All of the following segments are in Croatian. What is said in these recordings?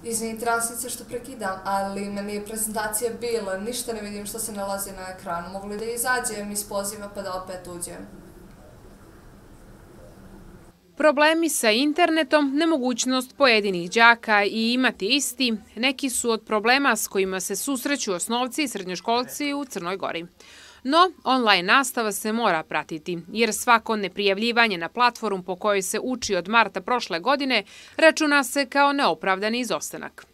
Izvini, transnice što prekidam, ali meni je prezentacija bila, ništa ne vidim što se nalazi na ekranu. Mogu li da izađem iz poziva pa da opet uđem? Problemi sa internetom, nemogućnost pojedinih đaka i imati isti, neki su od problema s kojima se susreću osnovci i srednjoškolci u Crnoj Gori. No, online nastava se mora pratiti, jer svako neprijavljivanje na platformu po kojoj se uči od marta prošle godine računa se kao neopravdani izostanak.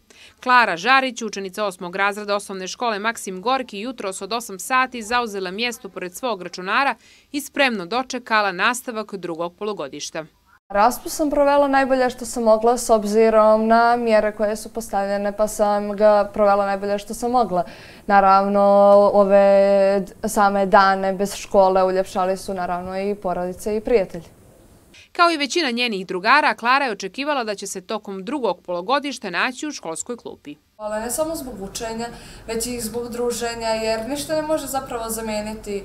Klara Žarić, učenica 8. razreda osnovne škole Maksim Gorki, jutros od 8 sati zauzela mjesto pored svog računara i spremno dočekala nastavak drugog polugodišta. Raspust sam provela najbolje što sam mogla s obzirom na mjere koje su postavljene, pa sam ga provela najbolje što sam mogla. Naravno, ove same dane bez škole uljepšali su naravno i porodice i prijatelji. Kao i većina njenih drugara, Klara je očekivala da će se tokom drugog polugodišta naći u školskoj klupi. Ali ne samo zbog učenja, već i zbog druženja, jer ništa ne može zapravo zamijeniti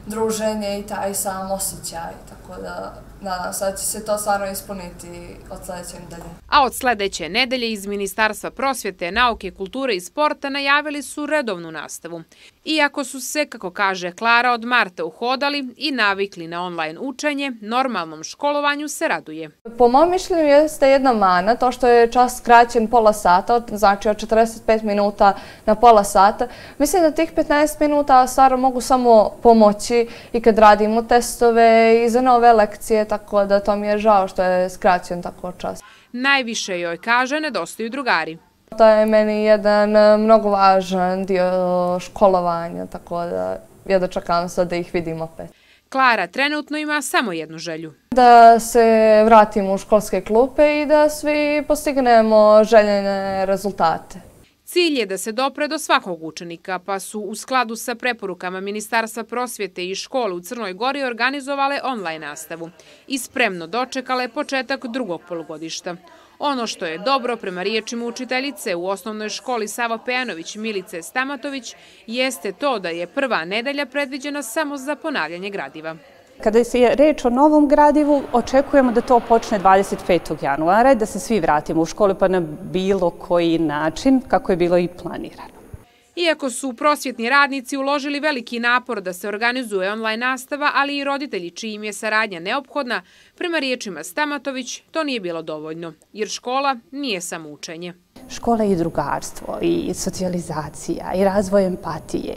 druženje i taj sam osjećaj, tako da nadam se da će se to stvarno ispuniti od sljedeće nedelje. A od sljedeće nedelje iz Ministarstva prosvjete, nauke, kulture i sporta najavili su redovnu nastavu. Iako su se, kako kaže Klara, od marta uhodali i navikli na online učenje, normalnom školovanju se raduje. Po mom mišljenju jeste jedna mana, to što je čas skraćen pola sata, znači od 45 minuta na pola sata. Mislim da tih 15 minuta stvarno mogu samo pomoći i kad radimo testove i za nove lekcije, tako da to mi je žao što je skraćen tako čas. Najviše joj, kaže, nedostaju drugari. To je meni jedan mnogo važan dio školovanja, tako da ja dočekam sad da ih vidim opet. Klara trenutno ima samo jednu želju. Da se vratimo u školske klupe i da svi postignemo željene rezultate. Cilj je da se dopre do svakog učenika, pa su u skladu sa preporukama Ministarstva prosvjete i škole u Crnoj Gori organizovale online nastavu i spremno dočekale početak drugog polugodišta. Ono što je dobro, prema riječima učiteljice u osnovnoj školi Savo Pejanović Milice Stamatović, jeste to da je prva nedelja predviđena samo za ponavljanje gradiva. Kada je reč o novom gradivu, očekujemo da to počne 25. januara i da se svi vratimo u školu pa na bilo koji način kako je bilo i planirano. Iako su prosvjetni radnici uložili veliki napor da se organizuje online nastava, ali i roditelji čijim je saradnja neophodna, prema riječima Stamatović, to nije bilo dovoljno, jer škola nije samo učenje. Škola je i drugarstvo, i socijalizacija, i razvoj empatije,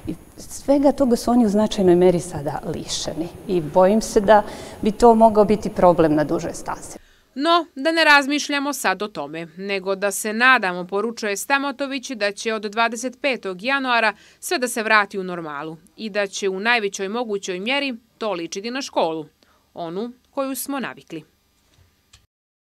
i svega toga su oni u značajnoj meri sada lišeni. I bojim se da bi to mogao biti problem na duže staze. No, da ne razmišljamo sad o tome, nego da se nadamo, poručuje Stamatović, da će od 25. januara sve da se vrati u normalu i da će u najvećoj mogućoj mjeri to ličiti na školu, onu koju smo navikli.